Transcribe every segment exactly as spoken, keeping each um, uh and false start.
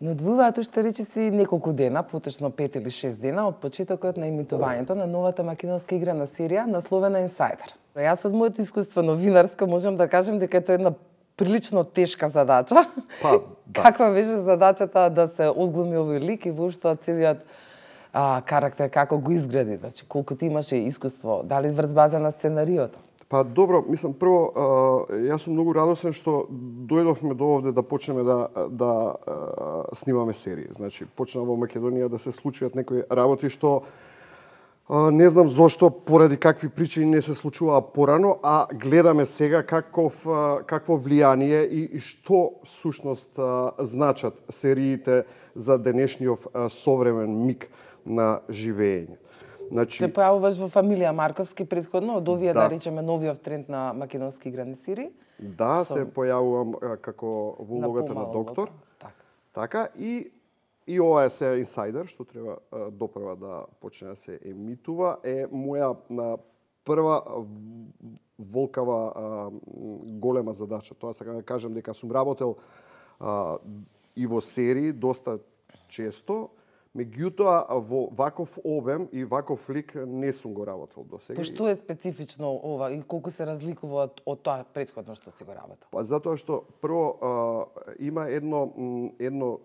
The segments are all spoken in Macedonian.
Но одвојуваат уште речиси неколку дена, поточно пет или шест дена од почетокот на емитувањето на новата македонска играна серија насловена Инсайдер. Јас од моето искуство новинарско можам да кажем дека е тоа една прилично тешка задача. Па, да. Каква беше задачата да се одглуми овој лик и воопшто целиот а, карактер, како го изгради, значи колку ти имаше искуство, дали врз база на сценариото? Па добро, мислам прво, а, јас сум многу радосен што дојдовме до овде да почнеме да да а, снимаме серии. Значи почна во Македонија да се случуваат некои работи што а, не знам зошто, поради какви причини не се случуваа порано, а гледаме сега каков а, какво влијание и, и што сушност а, значат сериите за денешниот а, современ миг на живење. Значи, се појавуваш во фамилија Марковски претходно, од овие, да, да речеме, новиот тренд на македонски играни серии. Да, Со... се појавувам а, како во улогата на, на доктор. Така. Така, и, и ова е се Инсайдер, што треба а, допрва да почне да се емитува, е моја на прва волкава а, голема задача. Тоа сакам да кажам дека сум работел а, и во серии доста често, меѓутоа во ваков обем и ваков лик не сум го работел досега. По што е специфично ова и колку се разликува од, од тоа претходно што си го работел? Па затоа што прво а, има едно едно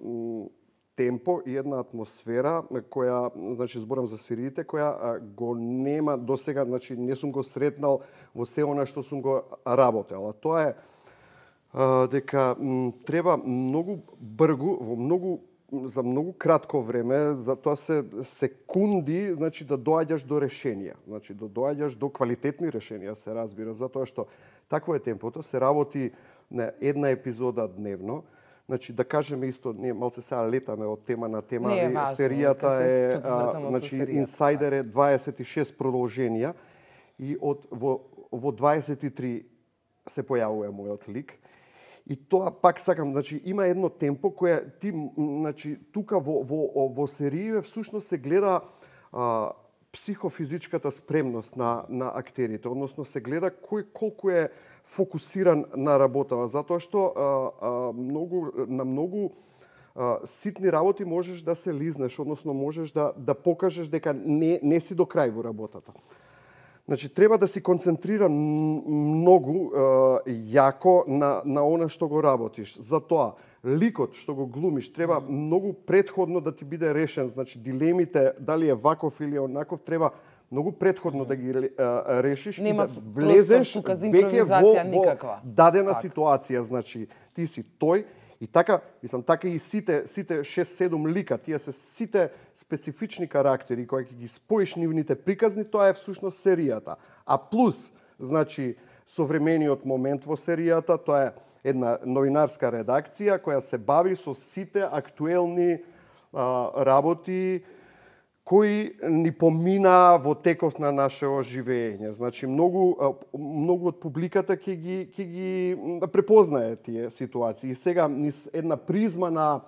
темпо и една атмосфера која, значи зборам за сериите, која а, го нема досега, значи не сум го сретнал во се она што сум го работел. А тоа е а, дека м, треба многу бргу, во многу за многу кратко време, за тоа се секунди, значи да доаѓаш до решенија, значи да доаѓаш до квалитетни решенија, се разбира, затоа што такво е темпото, се работи на една епизода дневно. Значи да кажеме исто, ние малце сега летаме од тема на тема, не, али важно, серијата е, а, значи серијата. Инсайдер е дваесет и шест продолженија и од во во дваесет и три се појавува мојот лик. И тоа пак сакам, значи има едно темпо кое ти, значи тука во во во серије всушност се гледа а, психофизичката спремност на на актерите, односно се гледа кој колку е фокусиран на работава, затоа што а, а, многу на многу а, ситни работи можеш да се лизнеш, односно можеш да да покажеш дека не не си до крај во работата. Значи, треба да си концентриран многу е, јако на, на она што го работиш. Затоа, ликот што го глумиш треба многу предходно да ти биде решен. Значи, дилемите, дали е ваков или онаков, треба многу предходно да ги е, решиш. Нема и да влезеш веќе во, во дадена так. ситуација. Значи, ти си тој. И така, мислам, така и сите сите шест-седум лика, тие се сите специфични карактери кои ќе ги споиш нивните приказни, тоа е всушност серијата. А плюс, значи, современиот момент во серијата, тоа е една новинарска редакција која се бави со сите актуелни а, работи кои ни помина во теков на нашето живење. Значи, многу, многу од публиката ќе ги, ќе ги препознае тие ситуации. И сега, низ една призма на,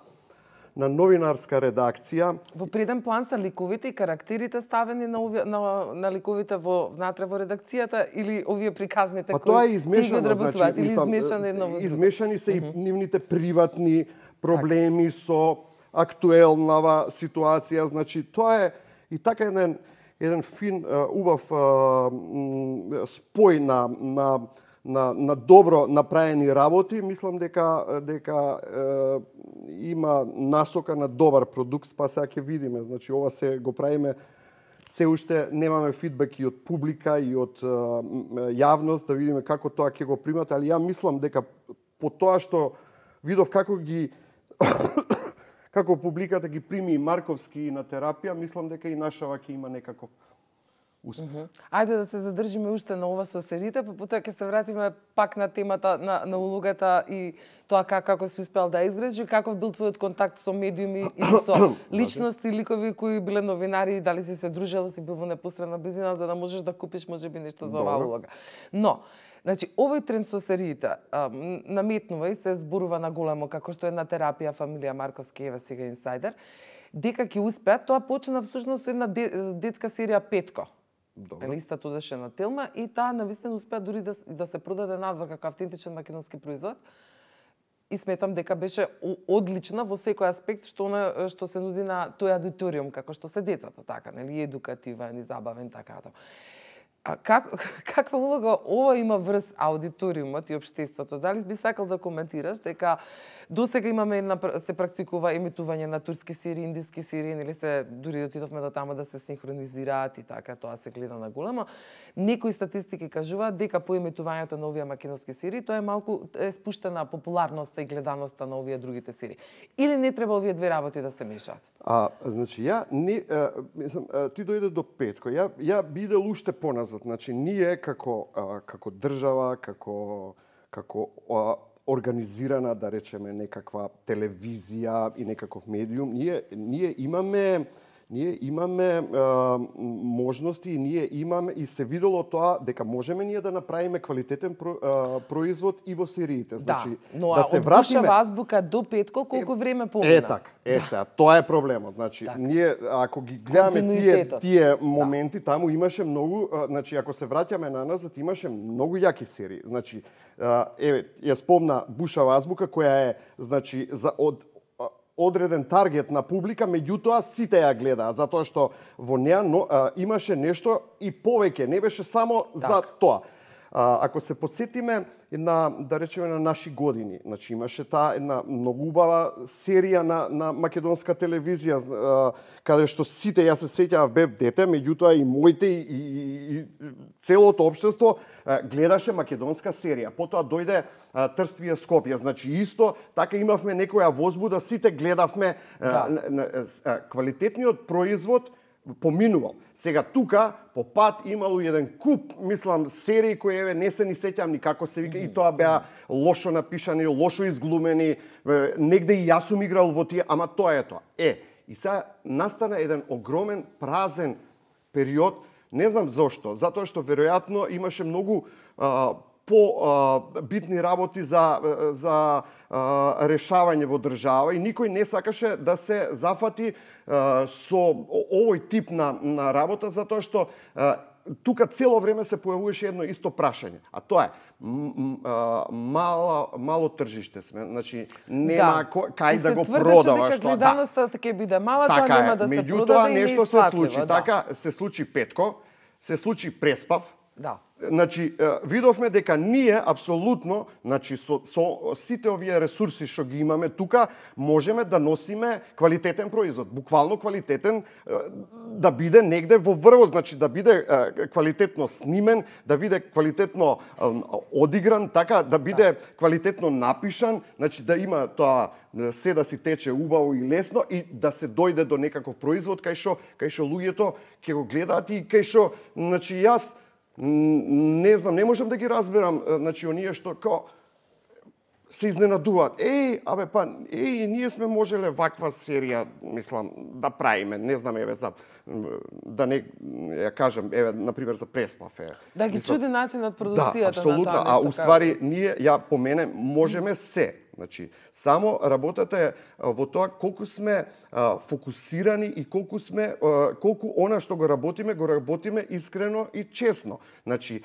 на новинарска редакција... Во преден план се ликовите и карактерите ставени на, овие, на, на ликовите во, внатре во редакцијата или овие приказните па, кои тоа е измешано, значи, или мислам, измешано едно во измешани се и нивните приватни проблеми так. Со актуелнава ситуација, значи тоа е и така еден еден фин убав спој на на на на добро направени работи, мислам дека дека е, има насока на добар продукт, па сега ќе видиме, значи ова се го правиме се уште немаме фидбек и од публика и од е, јавност да видиме како тоа ќе го примат, али ја мислам дека по тоа што видов како ги како публиката ги прими и Марковски на терапија, мислам дека и нашава ќе има некаков успех. Mm -hmm. Ајде да се задржиме уште на ова со сериите, па потоа ќе се вратиме пак на темата на, на улогата и тоа как, како си успел да изградиш, каков бил твојот контакт со медиуми и со личности, ликови кои биле новинари, дали си се дружел, си бил во непосредна близина за да можеш да купиш можеби нешто за оваа улога. Но значи, овој тренд со сериите а, наметнува и се зборува на големо, како што е на терапија фамилија Марковски, еве сега Инсайдер, дека ќе успеат. Тоа почна всушност со една детска серија Петко. Добро. Истата одеше на Телма и таа навистина успеа дури да, да се продаде надвор како автентичен македонски производ. и сметам дека беше одлична во секој аспект што она што се нуди на тој аудиториум, како што се децата, така, нели, едукативен и забавен, така да. А как, каква улога ова има врз аудиториумот и општеството? Дали би сакал да коментираш дека досега имаме една, се практикува емитување на турски серии, индиски серии, нели се дури отидовме до тама да се синхронизираат и така, тоа се гледа на големо. Некои статистики кажуваат дека по емитувањето на овие македонски серии тоа е малку е спуштена популарноста и гледаноста на овие другите серии. Или не треба овие две работи да се мешаат? А, значи, ја не, а, мислам, а, ти дојде до Петко. Ја ја бидел уште поназад. Значи, ние како а, како држава, како како а, организирана, да речеме, некаква телевизија и некаков медиум, ние ние имаме ние имаме а, можности и ние имаме и се видело тоа дека можеме ние да направиме квалитетен про, а, производ и во сериите. Значи, да, но да се од вратиме Бушева азбука до Петко колку време помина? Е така, е сега, тоа е проблемот. Значи, так. Ние ако ги гледаме тие тие моменти, да. Таму имаше многу, а, значи ако се враќаме на назад, имаше многу јаки серии. Значи, а, еве, ја спомна Бушева азбука која е, значи, за од одреден таргет на публика, меѓутоа сите ја гледаа, затоа што во неа но, а, имаше нешто и повеќе, не беше само так. За тоа. А, ако се подсетиме на, да речеме, на наши години, значи имаше таа една многу убава серија на, на македонска телевизија, а, каде што сите, јас се сеќавам, бев дете, меѓутоа и моите и, и, и целото општество а, гледаше македонска серија. Потоа дојде а, Трствие Скопје, значи исто, така имавме некоја возбуда, сите гледавме да. а, на, а, квалитетниот производ поминувал. Сега тука по пат имало еден куп, мислам, серии кои еве не се ни сеќам ни како се вика, mm. и тоа беа лошо напишани, лошо изглумени, негде и јас сум играл во тие, ама тоа е тоа. Е, и сега настана еден огромен празен период, не знам зошто, затоа што веројатно имаше многу а, по а, битни работи за за а, решавање во држава и никој не сакаше да се зафати а, со овој тип на на работа, затоа што а, тука цело време се појавуваше едно исто прашање, а тоа е мало мало тржиште сме, значи нема да. Кај да го продаваш тоа. Гледаноста да. Ќе биде мала, така тоа нема да се продаде и нешто се случи, да. Така се случи Петко, се случи Преспав. Да. Значи, видовме дека ние апсолутно, значи со, со сите овие ресурси што ги имаме тука, можеме да носиме квалитетен производ, буквално квалитетен, да биде негде во врвот, значи да биде квалитетно снимен, да биде квалитетно одигран, така да биде да. Квалитетно напишан, значи да има тоа се да си тече убаво и лесно и да се дојде до некаков производ кај што кај што луѓето ќе го гледаат и кај што, значи јас не знам, не можам да ги разберам, значи оние што као се изненадуваат. Еј, абе па, еј, ние сме можеле ваква серија, мислам, да правиме, не знам, еве за да не ја кажам, еве на пример за Преспав е. Да ги чуди начинот продукцијата да, на тоа нешто. А уствари ние ја помене можеме се. Значи, само работата е во тоа колку сме а, фокусирани и колку сме а, колку она што го работиме, го работиме искрено и честно. Значи,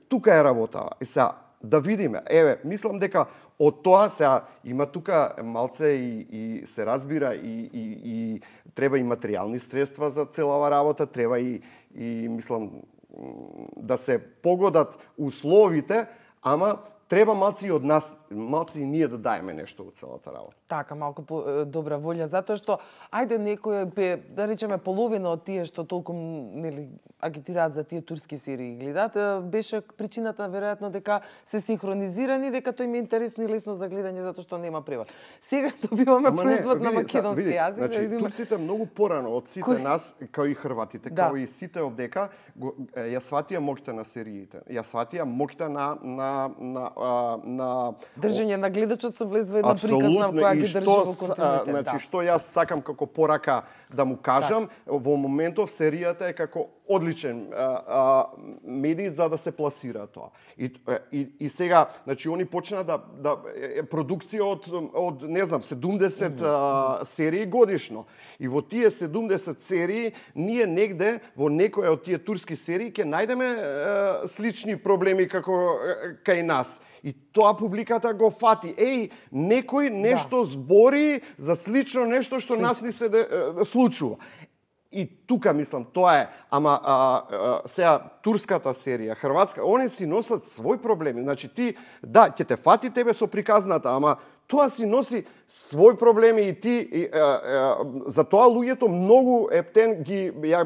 тука е работа. И сега да видиме. Еве, мислам дека од тоа сега има тука малце и, и се разбира и, и, и треба и материјални средства за целава работа, треба и, и мислам да се погодат условите, ама треба малци и од нас, малци и ние да даеме нешто од целата работа. Така, малку по, добра волја, затоа што, ајде некој, да речеме, половина од тие што толку нели, агитираат за тие турски серии гледат, беше причината, веројатно, дека се синхронизирани, дека тој им е интересно и лесно за гледање, затоа што нема превод. Сега добиваме производ на македонски јазик. Значи, да видиме... турците многу порано од сите Кој... нас, као и хрватите, да. Као и сите овдека, го, ја сватија моќта на сериите. Ја сватија моќта на, на, на, на, на држење на гледачот со влез во една приказна која ги држи во континуитет. Значи, да. што јас сакам како порака да му кажам, так. Во моментов серијата е како одличен а, а, медий за да се пласира тоа. И, и, и сега, значи, они почнаа да, да продукција од, од не знам, седумдесет mm -hmm. а, серии годишно. И во тие седумдесет серии, ние негде, во некоја од тие турски серии, ќе најдеме а, слични проблеми како а, кај нас. И тоа публиката го фати. Еј, некој нешто да. збори за слично нешто што нас ни се де, де, случува. И тука, мислам, тоа е. Ама а, а, сега турската серија, хрватска, они си носат свој проблеми. Значи ти, да, ќе те фати тебе со приказната, ама тоа си носи свој проблеми и ти и, а, а, за тоа луѓето многу ептен ги ја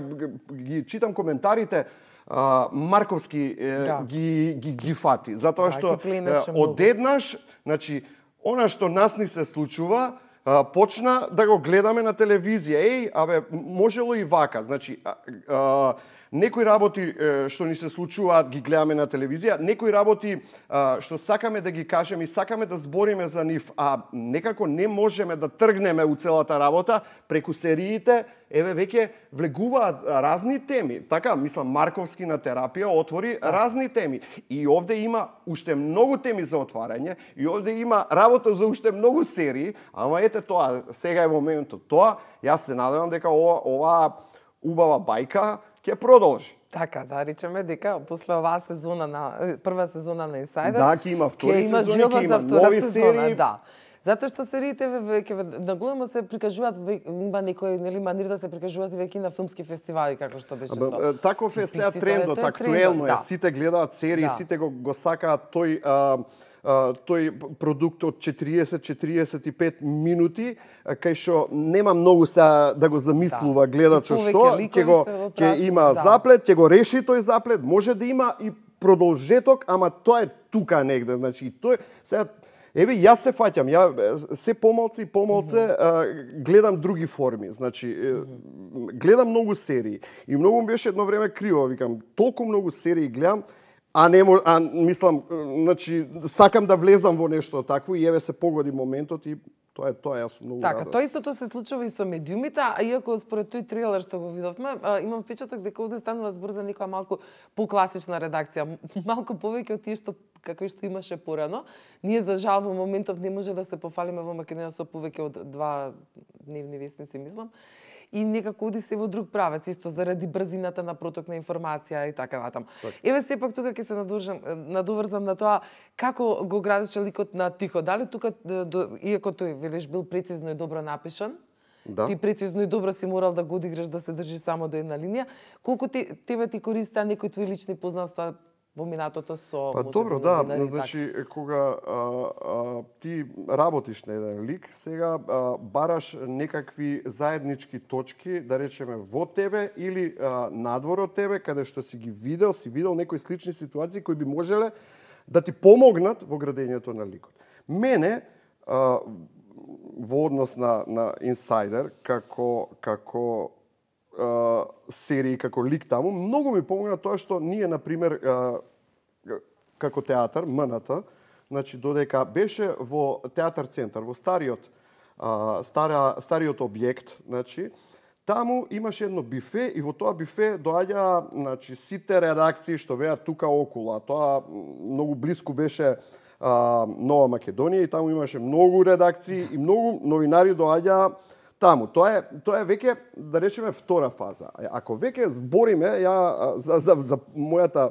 ги читам коментарите. Uh, Марковски е, да. ги, ги, ги фати. Затоа што да, одеднаш, значи, она што нас ни се случува, а, почна да го гледаме на телевизија. Еј, абе, можело и вака. Значи, а, а, некои работи е, што ни се случуваат, ги гледаме на телевизија, некои работи а, што сакаме да ги кажеме и сакаме да збориме за нив, а некако не можеме да тргнеме у целата работа, преку сериите, еве веќе влегуваат разни теми. Така, мислам, Марковски на терапија отвори да. разни теми. И овде има уште многу теми за отварање, и овде има работа за уште многу серии, ама ете тоа, сега е моментот. Тоа, јас се надевам дека ова, ова убава бајка ќе продолжи. Така, да речеме дека после оваа сезона на прва сезона на Инсайдер, да, ќе има втори сезони, ќе има нови серии, да. Затоа што сериите веќе наголемо се прикажуваат, има некои нели манир да се прикажуваат и веќе на филмски фестивали како што беше тоа. Таков е сега трендот, актуелно е, да. Сите гледаат серии, да. Сите го го сакаат тој а, а, тој продукт од четириесет до четириесет и пет минути, кај што нема многу сега да го замислува да. гледачот што ќе го ќе има да. заплет, ќе го реши тој заплет, може да има и продолжеток, ама тоа е тука негде, значи тој сега еве јас се фаќам, ја се помалце и помалце mm -hmm. гледам други форми, значи mm -hmm. гледам многу серии и многу беше едно време криво, викам, толку многу серии гледам, а не а мислам, значи сакам да влезам во нешто такво и еве се погоди моментот и тоа е тоа, јас сум многу така, радост. Тоа истото се случува и со медиумите, а иако според тој трейлер што го видовме, имам впечаток дека овде станува збор за некоја малку покласична редакција, малку повеќе од тие што како што имаше порано. Ние за жал во моментов не може да се пофалиме во Македонија со повеќе од два дневни весници, мислам. И некако оди се во друг правец, исто заради брзината на проток на информација и така натаму. Так. Еве сепак тука ќе се надоврзам, надоврзам на тоа како го градеше ликот на Тихо. Дали тука, иако тој велиш бил прецизно и добро напишан, да. Ти прецизно и добро си морал да го одиграш да се држи само до една линија, колку те, тебе ти користаа некои твои лични познанства во минатото со па добро, да, значи кога а, а, ти работиш на еден лик, сега а, бараш некакви заеднички точки, да речеме во тебе или а, надвор од тебе, каде што си ги видел, си видел некои слични ситуации кои би можеле да ти помогнат во градењето на ликот. Мене а, во однос на на Инсайдер како како Uh, серии како лик таму, многу ми помогна тоа што ние, например, uh, како театар, МНТ, значи додека беше во театар центар, во стариот uh, стара, стариот објект, значи таму имаше едно бифе и во тоа бифе доаѓа, значи сите редакции што беа тука околу. Тоа многу блиску беше uh, Нова Македонија и таму имаше многу редакции и многу новинари доаѓаа таму. Тоа е тоа е веќе, да речеме, втора фаза. Ако веќе збориме, ја за за, за мојата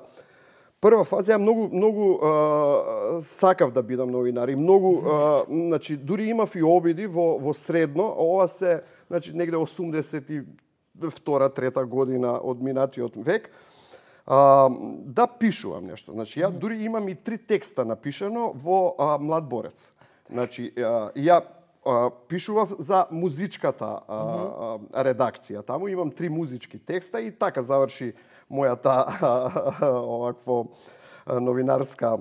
прва фаза, ја многу многу а, сакав да бидам новинар и многу а, значи дури имав и обиди во во средно, ова се значи негде осумдесет и втора трета година од минатиот век. А, да пишувам нешто. Значи ја дури имам и три текста напишано во а, Млад борец. Значи а, ја пишував за музичката а, а, редакција. Таму имам три музички текста и така заврши мојата овакво новинарска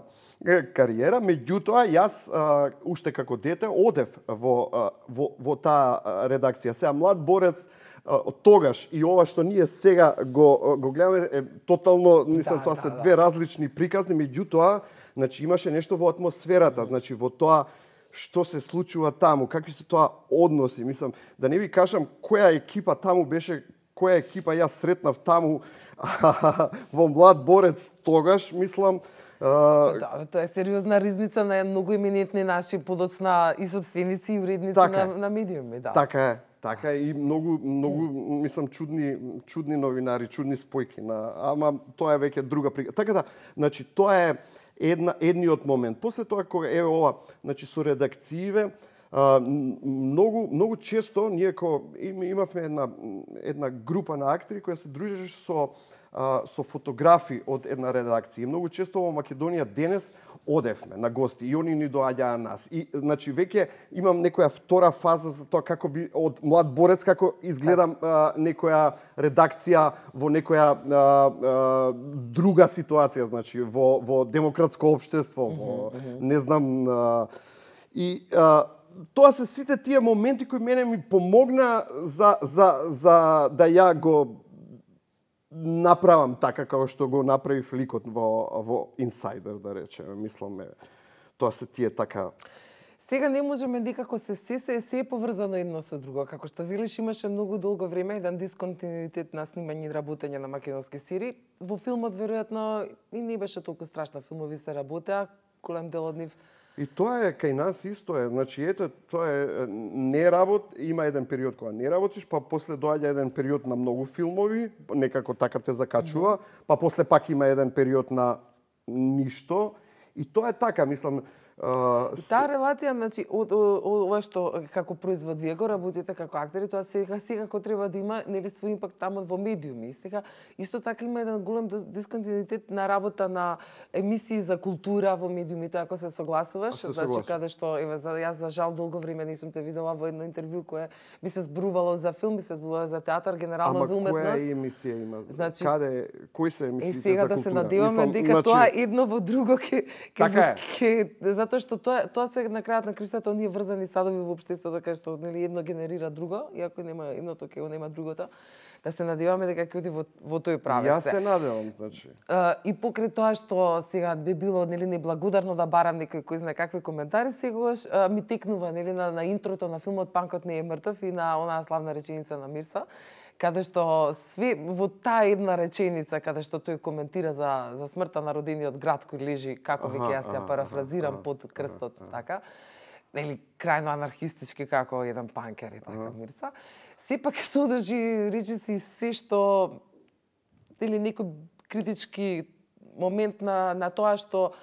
кариера. Меѓутоа, јас а, уште како дете одев во, а, во, во таа редакција. Сега Млад борец од тогаш и ова што ние сега го, го гледаме е тотално, мислам, да, тоа да, се две да. различни приказни, меѓутоа, значи имаше нешто во атмосферата, значи во тоа што се случува таму, какви се тоа односи, мислам, да не ви кажам која екипа таму беше, која екипа јас сретнав таму, во Млад борец тогаш, мислам, Да, тоа е сериозна ризница на многу еминентни наши подоцна и собственици и уредници така, на, на медиуми, да. Така е, така е и многу многу мислам чудни чудни новинари, чудни спојки на, ама тоа е веќе друга прига. Така да, значи тоа е една едниот момент. После тоа кога е ова, значи со редакциите, а, многу многу често ние ко имавме една една група на актери која се дружеше со со фотографи од една редакција. И многу често во Македонија денес одевме на гости и они ни доаѓаа нас. И значи веќе имам некоја втора фаза за тоа како би од Млад борец како изгледам а, некоја редакција во некоја а, а, друга ситуација, значи во во демократско општество, во не знам а, и а, тоа се сите тие моменти кои мене ми помогна за за за да ја го направам така како што го направив ликот во во Инсайдер, да речеме. Мислам, тоа се тие така. Сега не можеме никако се се се се е поврзано едно со друго. Како што велиш, имаше многу долго време еден дисконтинуитет на снимање и работење на македонски серии. Во филмот веројатно и не беше толку страшно, филмови се работеа, голем дел од нив. И тоа е кај нас исто е. Значи ето тоа е не работ, има еден период кога не работиш, па после доаѓа еден период на многу филмови, некако така те закачува, па после пак има еден период на ништо. И тоа е така, мислам. Uh, и таа релација, значи, од ова што како производ вие го работите како актери, тоа сега секако треба да има нели свој импакт таму во медиуми. Сега исто така има еден голем дисконтинуитет на работа на емисии за култура во медиумите, ако се согласуваш, се значи согласувам. каде што еве за јас за жал долго време не сум те видела во едно интервју кое би се зборувало за филм, би се зборувало за театар, генерално Ама за уметност. Ама која емисија има? Значи, каде, кои се емисиите за култура? Е сега да се надеваме дека значи... тоа едно во друго ќе така ќе затоа што тоа тоа се на крајот на кристата оние врзани садови во општеството кај што нели едно генерира друго, и ако нема едното ќе го нема другото, да се надеваме дека ќе оди во во тој правец. Јас се надевам, значи. Uh, и покрај тоа што сега би било нели неблагодарно да барам некој кој знае какви коментари, сегогаш uh, ми текнува нели на, на интрото на филмот Панкот не е мртов и на онаа славна реченица на Мирса, каде што све во таа една реченица каде што тој коментира за за смртта на родениот град кој лежи, како веќе јас ја парафразирам, под крстот, така, нели крајно анархистички како еден панкер и така Мирса, сепак содржи речиси се што нели некој критички момент на на тоа што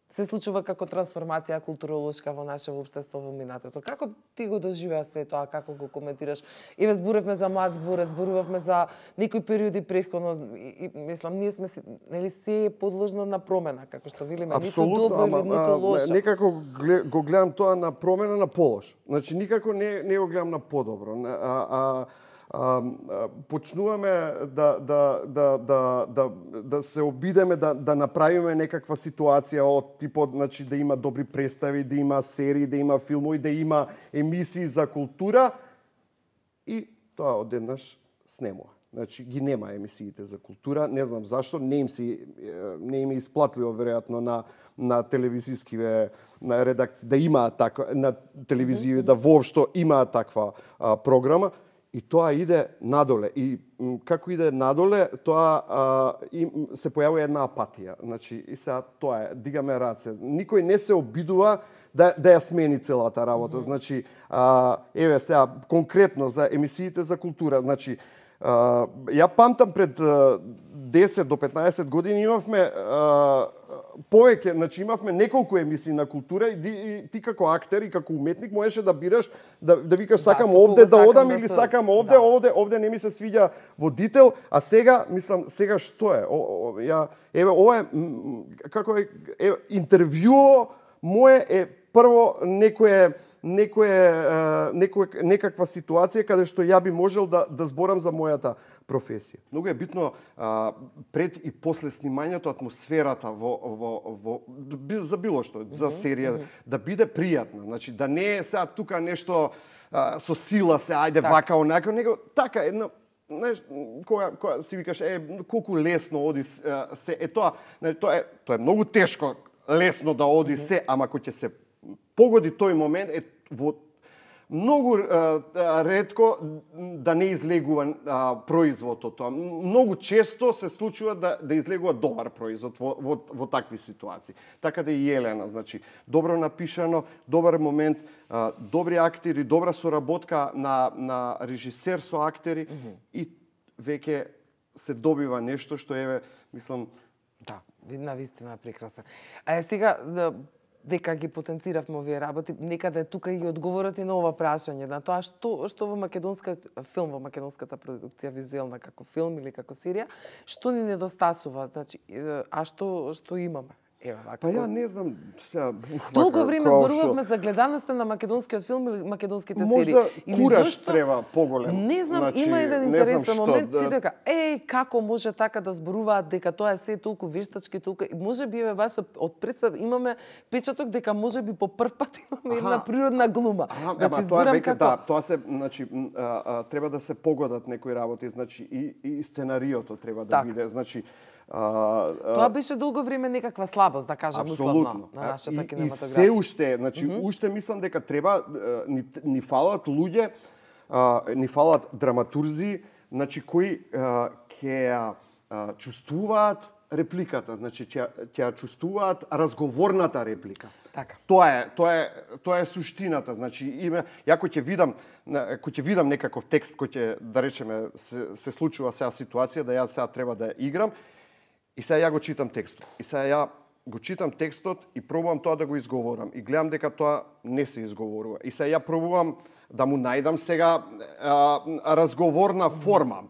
се случува како трансформација културолошка во наше општество во минатото. Како ти го доживеа све тоа, како го коментираш? Еве зборевме за Млад борец, зборувавме за некои периоди претходно и, и мислам ние сме нели се подложно на промена, како што велиме, ниту добро или ниту лошо. Некако го гледам тоа на промена на полош. Значи никако не не го гледам на подобро. А, а А, почнуваме да, да, да, да, да, да се обидеме да, да направиме некаква ситуација од типот, значи, да има добри представи, да има серии, да има филмови, да има емисии за култура и тоа одеднаш снемува. Значи ги нема емисиите за култура, не знам зашто, не им се не им е исплатливо веројатно на на телевизискиве на редакции да имаат така на телевизија да воопшто имаат таква а, програма. И тоа иде надоле. И како иде надоле, тоа а, и, се појавува една апатија. Значи, и сега тоа е, дигаме раце. Никој не се обидува да, да ја смени целата работа. Mm -hmm. Значи, а, еве сега, конкретно за емисиите за култура. Значи, а, ја памтам пред а, десет до петнаесет години имавме а, повеќе, значи имавме неколку емисии на култура и, и ти како актер и како уметник можеше да бираш да да викаш сакам да, овде да одам да или се... сакам овде, да. овде, овде не ми се свиѓа водител, а сега мислам сега што е? О, о, ја еве ова е како е, е интервјуо мое е прво некое некое некој некаква ситуација каде што ја би можел да да зборам за мојата професија. Многу е битно а, пред и после снимањето атмосферата во во во за било што, за серија, mm -hmm. да биде пријатна. Значи да не е сега тука нешто а, со сила се ајде так. Вака онака, него така едно знаеш, кога кога си викаш е колку лесно оди се е тоа, не, тоа е тоа е многу тешко лесно да оди mm -hmm. се, ама кога ќе се погоди тој момент е во многу а, ретко да не излегува а, производот тоа. Многу често се случува да да излегува добар производ во во, во такви ситуации. Така да и Елена, значи, добро напишано, добар момент, а, добри актери, добра соработка на на режисер со актери mm -hmm. и веќе се добива нешто што еве, мислам, да, на вистина прекрасно. А е сега да дека ги потенциравме овие работи, некаде тука и одговорот и на ова прашање, на тоа што што во македонскиот филм, во македонската продукција визуелна како филм или како серија, што ни недостасува, значи, а што што имаме? Ева, па ја не знам сега. Толку време зборувавме за гледаноста на македонскиот филм или македонските серии. Можда кураж зашто? Треба поголем. Не знам, значи, има еден интересен момент, да... си дека, еј, како може така да зборуваат дека тоа е се толку вештачки, толку може би еве баш од представ имаме печаток дека може би по прв пат имаме една природна глума. Аха, значи тоа е веќе како... да, тоа се, значи, а, а, треба да се погодат некои работи, значи и и сценариото треба да так. биде, значи А, а... Тоа беше долго време некаква слабост, да кажам, условно, на нашата кинематографија. И се уште, значи, mm -hmm. уште мислам дека треба, ни, ни фалат луѓе, а, ни фалат драматурзи, значи, кои а, ќе а, чувствуваат репликата, значи, ќе, ќе чувствуваат разговорната реплика. Така. Тоа е, тоа е, тоа е суштината, значи, име, ја кој ќе видам, кој ќе видам некаков текст кој ќе, да речеме, се, се случува сега ситуација, да ја сега треба да играм, и сега ја го читам текстот. И сега ја го читам текстот и пробувам тоа да го изговорам. И гледам дека тоа не се изговорува. И сега ја пробувам да му најдам сега а, разговорна форма.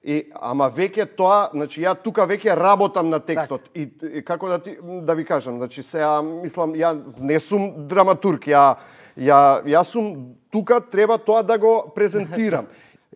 И ама веќе тоа, значи ја тука веќе работам на текстот. Так. И, и како да ти да ви кажам, значи сега мислам ја не сум драматург, ја ја ја сум тука треба тоа да го презентирам.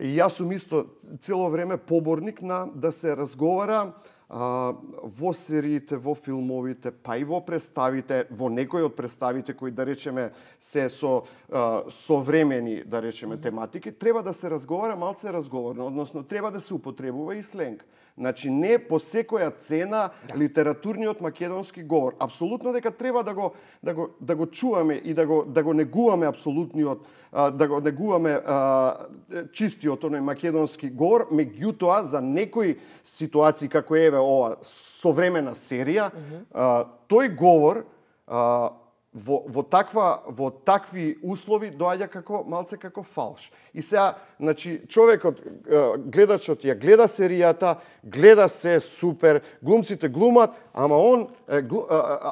И јас сум исто цело време поборник на да се разговара а, во сериите, во филмовите, па и во представите, во некои од представите кои, да речеме, се со а, современи, да речеме, тематики, треба да се разговара малце разговорно, односно треба да се употребува и сленг. Значи не по секоја цена да. Литературниот македонски говор. Апсолутно дека треба да го да го да го чуваме и да го да го негуваме апсолутниот да го негуваме чистиот оној македонски говор, меѓутоа за некои ситуации како еве ова современа серија, mm -hmm. тој говор во во таква во такви услови доаѓа како малце како фалш. И сега, значи, човекот, гледачот ја гледа серијата, гледа се супер, глумците глумат, ама он глу,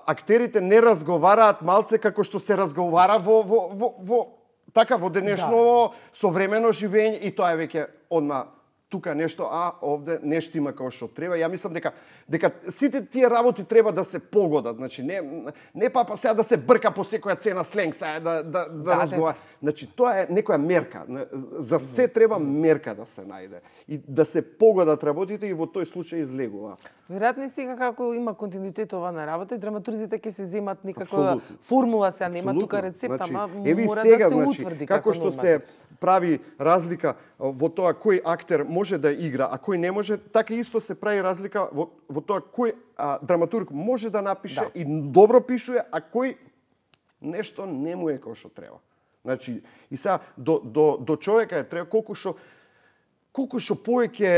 актерите не разговараат малце како што се разговара во во во, во така во денешно да. Современо живење и тоа е веќе одма тука нешто, а овде нешто има како што треба. Ја мислам дека дека сите тие работи треба да се погодат. Значи не не па, па сега да се брка по секоја цена сленг, сега да да да, да разговара. Значи тоа е некоја мерка. За се треба мерка да се најде и да се погодат работите и во тој случај излегува. Веројатно сега како има континуитет ова на работа и драматурзите ќе се земат некаква формула, сега нема тука рецепта, значи, ама мора сега, да се значи, утврди како, како што норматив. се прави разлика во тоа кој актер може да игра, а кој не може, така исто се прави разлика во, во тоа кој а, драматург може да напише да. И добро пишува, а кој нешто не му е како што треба. Значи, и сега до, до, до човека е треба колку што колку што повеќе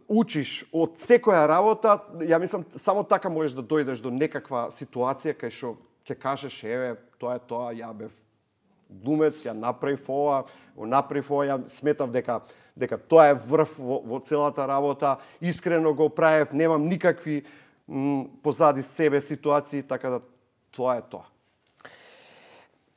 учиш од секоја работа, ја мислам само така можеш да дојдеш до некаква ситуација кај што ќе кажеш еве тоа е тоа, ја бев глумец, ја направив ова, го направив ова, ја сметав дека дека тоа е врв во, во целата работа, искрено го правев, немам никакви м, позади себе ситуации, така да тоа е тоа.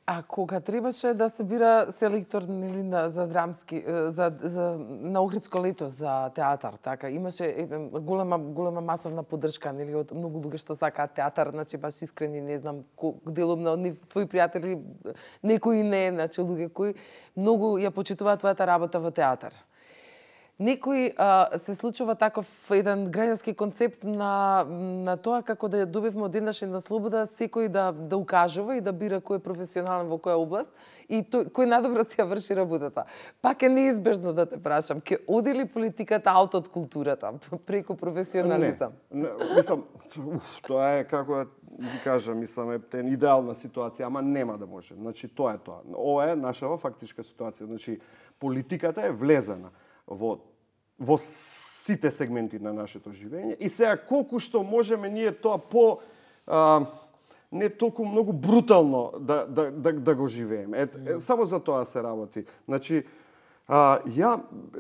А кога требаше да се бира селектор нели на за драмски за за на Охридско лето за театар, така имаше голема голема масовна поддршка нели од многу луѓе што сакаат театар, значи баш искрени, не знам, делумно од твои пријатели, некои не, значи луѓе кои многу ја почитуваат твојата работа во театар. Некој а, се случува таков еден граѓански концепт на на тоа како да ја добивме од еднаш една слобода секој да да укажува и да бира кој е професионален во која област и тој кој најдобро си ја врши работата. Пак е неизбежно да те прашам, ќе оди ли политиката аут од културата преку професионализам? Не, не, мислам, уф, тоа е како ви кажам, мислам е тен идеална ситуација, ама нема да може. Значи тоа е тоа. Ова е нашава фактичка ситуација. Значи политиката е влезена во во сите сегменти на нашето живење и сега колку што можеме ние тоа по а, не толку многу брутално да да да, да го живееме. Е, е, само за тоа се работи. Значи А, ја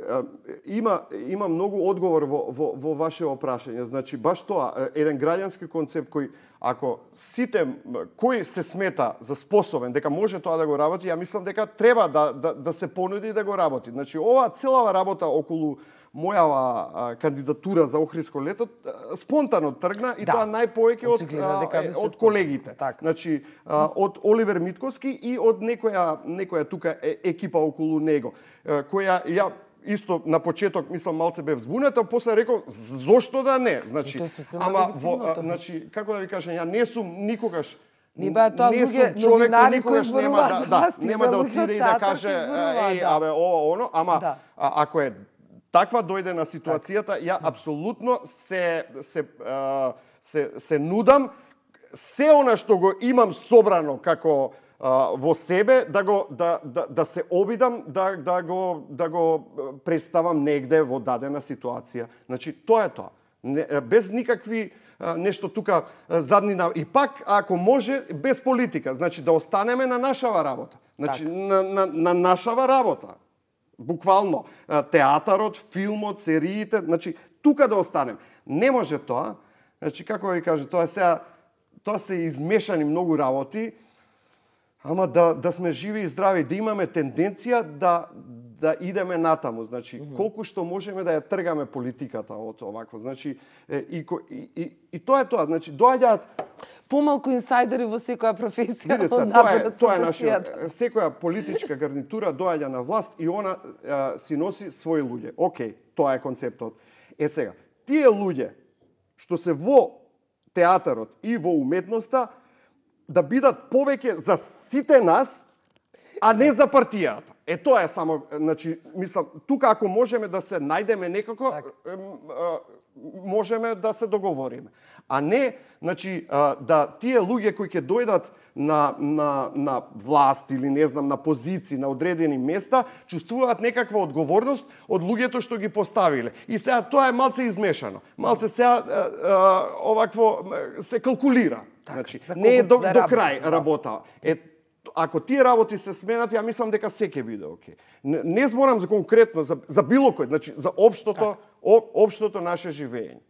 а, има има многу одговор во во во ваше опрашање. Значи баш тоа еден граѓански концепт кој ако сите кој се смета за способен дека може тоа да го работи, ја мислам дека треба да да да се понуди да го работи. Значи ова целава работа околу мојава а, кандидатура за Охридско лето спонтано тргна и да. Тоа најповеќе од а, од колегите. Так. Значи а, од Оливер Митковски и од некоја некоја тука е, екипа околу него, која ја исто на почеток мислам малце бев збунета, после реков зошто да не? Значи, ама во, а, значи како да ви кажам, ја не сум никогаш Не ба тоа луѓе човек кој никогаш кои нема да, да нема да отиде и да каже еј да. абе ова оно, ама да. а, ако е таква дојде на ситуацијата, ја апсолутно се се а, се се нудам се она што го имам собрано како а, во себе да го да да да се обидам да да го да го представам негде во дадена ситуација. Значи тоа е тоа. Не, без никакви а, нешто тука а, заднина и пак ако може без политика, значи да останеме на нашава работа. Значи так. на, на на нашава работа. Буквално театарот, филмот, сериите, значи тука да останем. Не може тоа. Значи како ви кажа, тоа сега тоа се измешани многу работи, ама да да сме живи и здрави, да имаме тенденција да да идеме натаму, значи mm -hmm. колку што можеме да ја тргаме политиката од овакво, значи и и и, и тоа е тоа, значи доаѓаат помалку инсайдери во секоја професија. Видете, тоа е тоа е нашиот секоја политичка гарнитура доаѓа на власт и она а, си носи своји луѓе. Океј, тоа е концептот. Е сега, тие луѓе што се во театарот и во уметноста да бидат повеќе за сите нас, а не за партијата. Е тоа е само, значи, мислам, тука ако можеме да се најдеме некако, так. можеме да се договориме. А не, значи, да тие луѓе кои ќе дојдат на, на, на власт или не знам, на позиции, на одредени места, чувствуваат некаква одговорност од луѓето што ги поставиле. И сега тоа е малце измешано. Малце сега овакво се калкулира. Так, значи, не е до, да до крај да. работа. Е, ако тие работи се сменат, ја мислам дека се ќе биде окей. Не, не зборам за конкретно, за, за било кој, значи за општото, так. о, општото наше живење.